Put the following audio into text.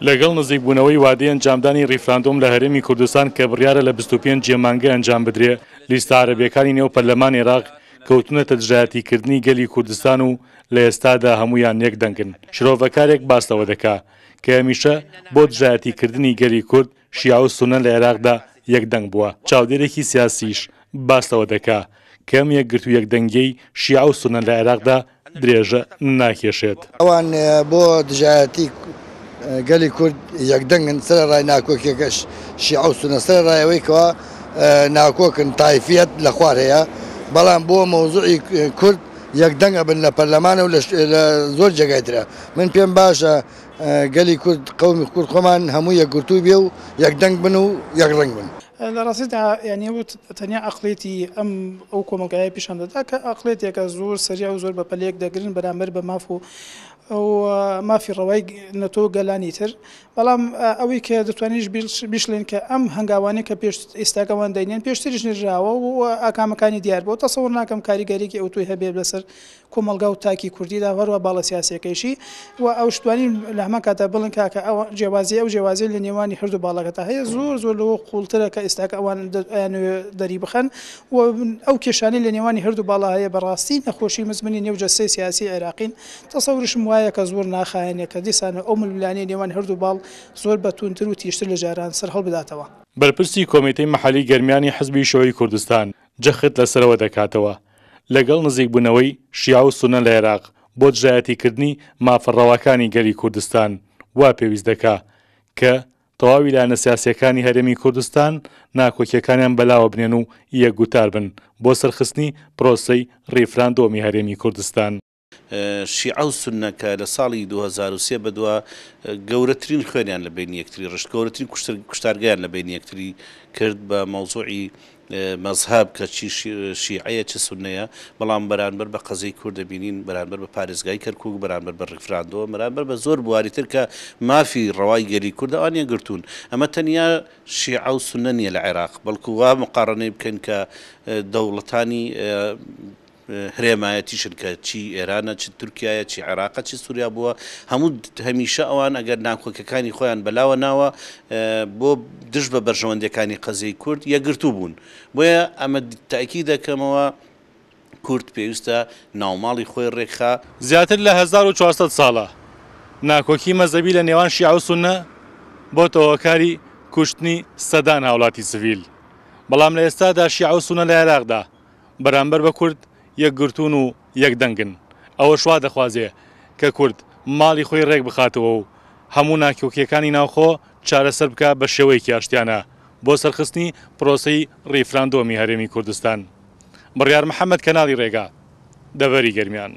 لەگەڵ نزیکبوونەوەی وادەی ئەنجامدانی ڕیفراندۆم لە هەرێمی کوردستان کە بڕیارە لە 25 ی مانگە ئەنجام بدرێ، لیستە عەرەبییەکانی نێو پەرلەمانی عێراق کەوتوونەتە دژایەتیکردنی گەلی کوردستان و لە ئێستادا هەموویان یەک دەنگن. شرۆڤەکارێک باس لەوە دەکا کە هەمیشە بۆ دژایەتیکردنی گەلی کورد شیعە و سوننە لە عێراقدا یەک دەنگ بووە. چاودێرێکی سیاسیش باس لەوە دەکا کە ئەم یەکگرتوو یەکدەنگیەی شیعە و سوننە لە عێراقدا درێژە ناکێشێت. ئەوان بۆ دژایەتی گەلی کورد یەکدەنگن، سەرەڕای ناکۆکیەکەش شیعە و سوننە، سەرەڕای ئەوەی کەوا ناکۆکن، تایفیەت لە خوار هەیە، بەڵام بۆ مەوزوعی کورد یەکدەنگ ئەبن لە پەرلەمانە و لە زۆر جێگای ترە. من پێم باشە گەلی کورد، قەومی کورد خۆمان هەموو یەکگرتوو بێ و یەکدەنگ بن و یەکڕەنگ بن. لە ڕاستیدا یانی ئەو تەنیا عەقڵیەتی ئەم ئەو کۆمەڵگایە پیشان دەدا کە عەقڵیەتێکە زۆر سەریع و زۆر بە پەلەیەک دەگرن بەرامبەر بە ماف و مافی ڕەوای نەتەوە و گەلانی تر. بەڵام ئەوەی کە دەتوانین بیشڵێین کە ئەم هەنگاوانەی کە پێش ئێستاکە ئەوان دەینێن پێشتریش نراوە و ئاکامەکانی دیار بووە. تەسەور ناکەم کاریگەریی ئەوتۆی هەبێت لەسەر کۆمەڵگا و تاکی کوردیدا و هەروەها باڵە سیاسیەکەیشی و ئەوش توانین لە هەمان کاتدا بڵێن کاکە ئەو جیاوازی ئەو جیاوازی لە نێوانی هەردوو باڵەکەدا هەیە زۆر زۆر لەوە قوڵترە کە ئێستاکە ئەوان ئەیانەوێ دەری بخەن و ئەو کێشانەی لە نێوانی هەردوو باڵا هەیە بەڕاستی نەخۆشی مزمنی نێو جەستەی سیاسی عێراقین تەسەورشم وایە کە زۆر ناخایەنێ کە دیسان ئەو ململانێی نێوان هەردوو باڵ زۆر بە توندتر و تیژتر لە جاران سەر هەڵبداتەوە. بەرپرسی کۆمیتەی مەحەلی گەرمیانی حزبی شیوعی کوردستان جەخت لەسەرەوە دەکاتەوە، لەگەڵ نزیکبوونەوەی شیعە و سوننە لە عێراق بۆ دژایەتیکردنی مافە ڕەواکانی گەلی کوردستان وا پێویست دەکا کە تەواوی لایەنە سیاسییەکانی هەرێمی کوردستان ناکۆکییەکانیان بەلاوە بنێن و یەکگوتار بن بۆ سەرخستنی پرۆسەی ڕیفراندۆمی هەرێمی کوردستان. شیعە و سوننە کە لە ساڵی 2003 بەدوا گەورەترین خوێنیان لە بەینی یەکتری ڕشت، گەورەترین کوشتارگەیان لە بەینی یەکتری کرد بە مەوزوعی مەزهەب کە چی شیعەیە چ سوننەیە، بەڵام بەرانبەر بە قەزیەی کورد دەبینین، بەرانبەر بە پارێزگای کەرکوک، بەرانبەر بە ڕیفراندۆم، بەرانبەر بە زۆر بواری تر کە مافی ڕەوای گەلی کوردە ئەوان یەکگرتوون. ئەمە تەنیا شیعە و سوننە نییە لە عێراق، بەڵکو وا مقاڕەنەی بکەین کە دەوڵەتانی هرێمایەتیشن کە چی ئێرانە چ تورکیایە چی عێراقە چی سوریا بووە هەموو هەمیشە ئەوان ئەگەر ناکۆکیەکانی خۆیان بەلاوە ناوە بۆ دژ بە بەرژەوەندیەکانی قەزیەی کورد یەکگرتوو بوون بۆیە ئەمە تاکی دەکەمەوە کورد پێویستە ناوماڵی خۆی ڕێکخا. زیاتر لە 1400 ساڵە ناکۆکی مەزهەبی لە نێوان شیعە و سوننە بۆتە هۆکاری کوشتنی سەدان هاوڵاتی سڤیل، بەڵام لە ئێستادا شیعە و سوننە لە عێراقدا بەرامبەر بە کورد یەکگرتوون و یەکدەنگن، ئەوەش وا دەخوازێ کە کورد ماڵی خۆی رێک بخاتەوە و هەموو ناکۆکییەکانی ناوخۆ چارەسەر بکا بە شێوەیەکی ئاشتیانە بۆ سەرخستنی پرۆسەی ریفراندۆمی هەرێمی کوردستان. بڕیار محەمەد کەناڵی رێگا، دەڤەری گەرمیان.